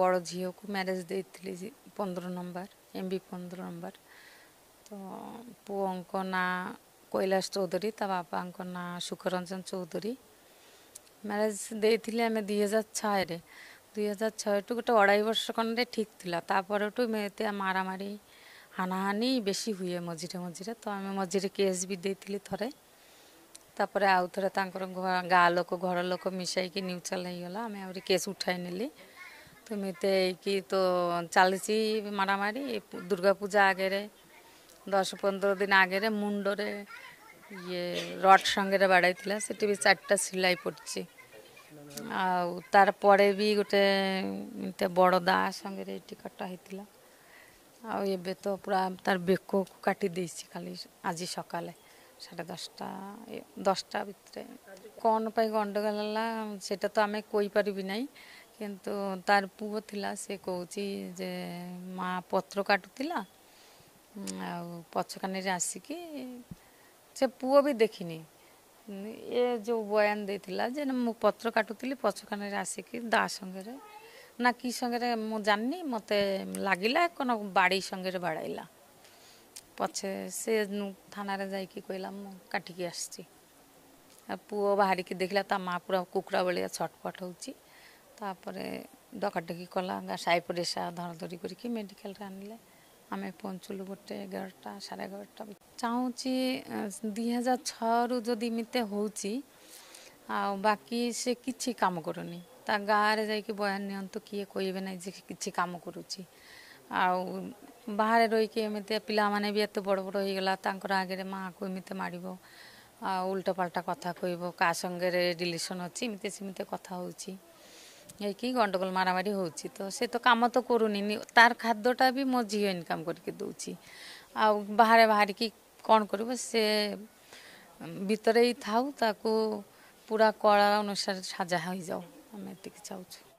ବଡ଼ ଝିଅକୁ ମ୍ୟାରେଜ୍ ଦେଇଥିଲି 15 ନମ୍ବର, MB 15 number. ତ ପୁଅଙ୍କ ନାଁ କୈଳାସ ଚୌଧୁରୀ, ତା ବାପାଙ୍କ ନାଁ ସୁଖରଞ୍ଜନ ଚୌଧୁରୀ। ମ୍ୟାରେଜ୍ ଦେଇଥିଲି ଆମେ 2006ରେ। 2006ଠୁ ଗୋଟେ 2.5 ବର୍ଷ ଖଣ୍ଡେ ଠିକ୍ ଥିଲା। ତାପରଠୁ ଏତେ ମାରାମାରି ହାନାହାନି ବେଶୀ ହୁଏ ମଝିରେ ମଝିରେ। ତ ଆମେ ମଝିରେ କେସ୍ ବି ଦେଇଥିଲି ଥରେ। ତାପରେ ଆଉ ଥରେ ତାଙ୍କର ଗାଁ ଲୋକ ଘର ଲୋକ ମିଶାଇକି ନ୍ୟୁଟ୍ରାଲ୍ ହେଇଗଲା, ଆମେ ଆହୁରି କେସ୍ ଉଠାଇ ନେଲି। ତ ଏମିତି ହେଇକି ତ ଚାଲିଛି ମାରାମାରି। ଦୁର୍ଗା ପୂଜା ଆଗରେ 10-15 ଦିନ ଆଗରେ ମୁଣ୍ଡରେ ଇଏ ରଡ୍ ସାଙ୍ଗରେ ବାଡ଼େଇଥିଲା, ସେଠି ବି 4ଟା ସିଲାଇ ପଡ଼ିଛି। ଆଉ ତାର ପରେ ବି ଗୋଟେ ଏମିତି ବଡ଼ ଦା ସାଙ୍ଗରେ ଏଇଠି କଟା ହେଇଥିଲା। ଆଉ ଏବେ ତ ପୁରା ତାର ବେକକୁ କାଟି ଦେଇଛି ଖାଲି ଆଜି ସକାଳେ 10:30 10ଟା ଭିତରେ। କ'ଣ ପାଇଁ ଗଣ୍ଡଗୋଳ ହେଲା ସେଇଟା ତ ଆମେ କହିପାରିବି ନାହିଁ, କିନ୍ତୁ ତାର ପୁଅ ଥିଲା, ସେ କହୁଛି ଯେ ମା ପତ୍ର କାଟୁଥିଲା ଆଉ ପଛକାନିରେ ଆସିକି, ସେ ପୁଅ ବି ଦେଖିନି। ଏ ଯେଉଁ ବୟାନ ଦେଇଥିଲା ଯେ ମୁଁ ପତ୍ର କାଟୁଥିଲି, ପଛକାନିରେ ଆସିକି ଦା ସାଙ୍ଗରେ ନା କି ସାଙ୍ଗରେ ମୁଁ ଜାଣିନି, ମୋତେ ଲାଗିଲା କ'ଣ ବାଡ଼ି ସାଙ୍ଗରେ ବାଡ଼ାଇଲା। ପଛେ ସେ ଥାନାରେ ଯାଇକି କହିଲା ମୁଁ କାଟିକି ଆସିଛି। ଆଉ ପୁଅ ବାହାରିକି ଦେଖିଲା ତା ମା ପୁରା କୁକୁଡ଼ା ଭଳିଆ ଛଟପଟ ହେଉଛି। ତାପରେ ଡକାଡକି କଲା, ସାହି ପଡ଼ିଶା ଧରାଧରି କରିକି ମେଡ଼ିକାଲରେ ଆଣିଲେ। ଆମେ ପହଞ୍ଚିଲୁ ଗୋଟେ 11ଟା 11:30। ଚାହୁଁଛି 2006ରୁ ଯଦି ଏମିତି ହେଉଛି, ଆଉ ବାକି ସେ କିଛି କାମ କରୁନି। ତା ଗାଁରେ ଯାଇକି ବୟାନ ନିଅନ୍ତୁ, କିଏ କହିବେ ନାହିଁ ଯେ କିଛି କାମ କରୁଛି। ଆଉ ବାହାରେ ରହିକି ଏମିତି ପିଲାମାନେ ବି ଏତେ ବଡ଼ ବଡ଼ ହେଇଗଲା, ତାଙ୍କର ଆଗରେ ମାଆକୁ ଏମିତି ମାରିବ ଆଉ ଉଲ୍ଟାପାଲ୍ଟା କଥା କହିବ, କାହା ସାଙ୍ଗରେ ରିଲେସନ୍ ଅଛି ଏମିତି ସେମିତି କଥା ହେଉଛି, ହେଇକି ଗଣ୍ଡଗୋଳ ମାରାମାରି ହେଉଛି। ତ ସେ ତ କାମ ତ କରୁନି, ତାର ଖାଦ୍ୟଟା ବି ମୋ ଝିଅ ଇନକମ୍ କରିକି ଦେଉଛି। ଆଉ ବାହାରେ ବାହାରିକି କ'ଣ କରିବ, ସେ ଭିତରେ ହିଁ ଥାଉ, ତାକୁ ପୁରା କଳା ଅନୁସାରେ ସାଜା ହେଇଯାଉ, ଆମେ ଏତିକି ଚାହୁଁଛୁ।